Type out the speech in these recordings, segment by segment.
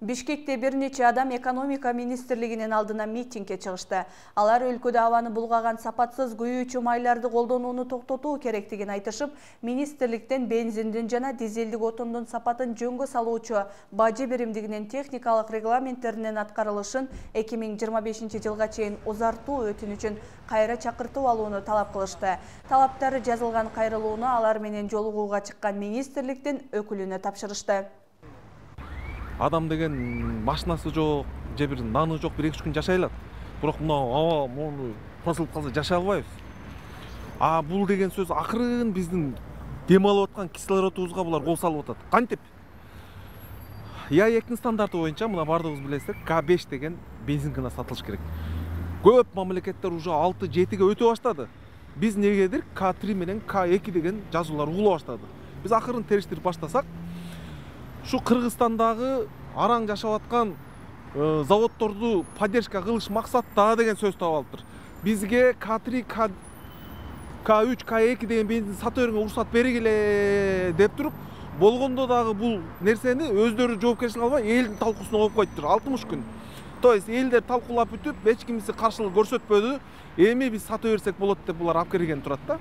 Бишкекте бир нече адам экономика министрлигинин алдына митингге чыгышты. Алар өлкөдө абаны булгаган сапатсыз күйүүчү майларды колдонууну токтотуу керектигин айтышып, министрликтен бензиндин жана дизелдик отундун сапатын жөнгө салуучу бажы биримдигинин техникалык регламенттеринин аткарылышын 2025 жылга чейин узартуу өтүнүчүн кайра чакыртып алууну талап кылышты. Талаптары жазылган кайрылууну алар менен жолугууга чыккан министрликтин өкүлүнө тапшырышты. Адам деген машинасы жок, же бир наны жок, 1-2 күн жашай алат. Бирок мына аба мону тасылып калса жашай албайбыз. Бул деген сөз акырын биздин дем алып аткан кислородубузга булар кол салып атат. Кантип? ЯЭКтин стандарты боюнча мына бардыгыбыз билесиздер, К5 деген бензин гана сатылыш керек. Көп мамлекеттер уже 6-7ге өтө баштады. Биз негедир К3 менен К2 деген жазуулар угула баштады. Биз акырын териштирип баштасак, şu Кыргызстандагы араң жашап аткан заводдорду поддержка кылыш максатта деген сөз таап алыптыр. Бизге К3, К3, К2 деген бензин сата берүүгө уруксат бергиле деп туруп, болгондо дагы бул нерсени өздөрү жоопкерчилик албай элдин талкуусуна коюп коюптур 60 күн. То есть элдер талкуулап бүтүп, эч кимиси каршылык көрсөтпөдү. Эми биз сата берсек болот деп булар алып келген турат да.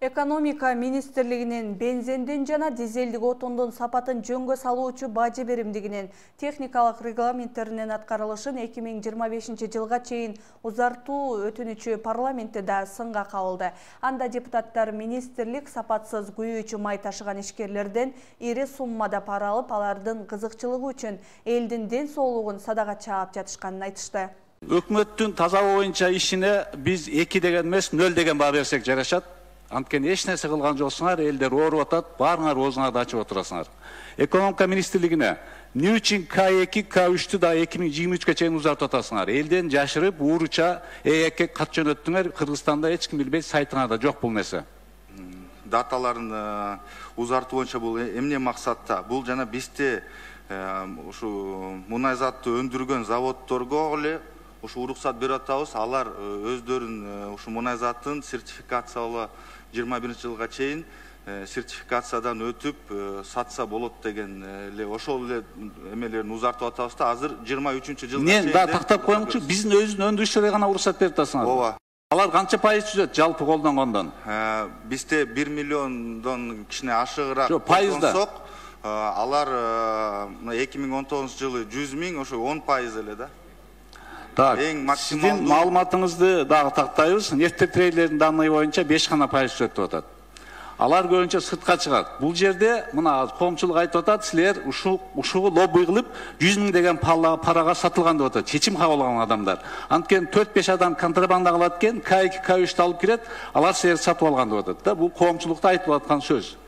Экономика министрлигинин бензиндин жана дизелдик отундун сапатын жөнгө салуучу бажы биримдигинин техникалык регламенттеринин аткарылышын 2025 жылга чейин узартуу өтүнүчү парламентте да сынга кабылды. Анда депутаттар министрлик сапатсыз күйүүчү май ташыган ишкерлерден ири суммада пара алып, алардын кызыкчылыгы үчүн элдин ден соолугун садага чаап жатышканын айтышты. Өкмөттүн таза боюнча ишине биз 2 деген эмес 0 деген баа берсек жарашат. Анткени эч нерсе кылган жоксуңар, элдер ооруп атат, баарыңар оозуңарды ачып отурасыңар. Экономика министрлигине эмне үчүн К2, К3-тү да 2023-ке чейин узартып атасыңар? Элден жашырып, ууруча ЭЭКке кат жөнөттүңөр. Кыргызстанда эч ким билбейт, сайтыңарда жок бул нерсе. Даталарын узартуу боюнча бул эмне максатта? Бул жана бизде ушу мунай затты өндүргөн заводдорго эле ушу уруксат берип атабыз. Алар өздөрүн ушу мунай затын сертификациялоо 21 жылга чейин сертификациядан өтүп сатса болот деген эле ошол эле эмелерин узартып атабыз да. Азыр 23 жылга чейин. Мен да тактап коюңчу, биздин өзүнүн өндүрүшчүлөргө гана уруксат берип атасыңар. Ооба. Алар канча пайыз түзөт жалпы колдонгондон? Бизде 1 миллиондон кичине ашыгыраак колдонсок, алар 2019 жылы 100 миң, ошо 10% эле да. Так, сиздин маалыматыңызды дагы тактайбыз. Нефтетрейдердин данные боюнча 5 гана пайыз түзөт деп атат. Алар көбүнчө сыртка чыгат. Бул жерде мына коомчулук айтып атат, силер ушугу лобби кылып 100 миң деген парага сатылган деп атат. Чечим кабыл алган адамдар. Анткени 4-5 адам контрабанда кылат экен, К2, К3-тү алып кирет, алар силерди сатып алган деп атат да. Бул коомчулукта айтылып аткан сөз.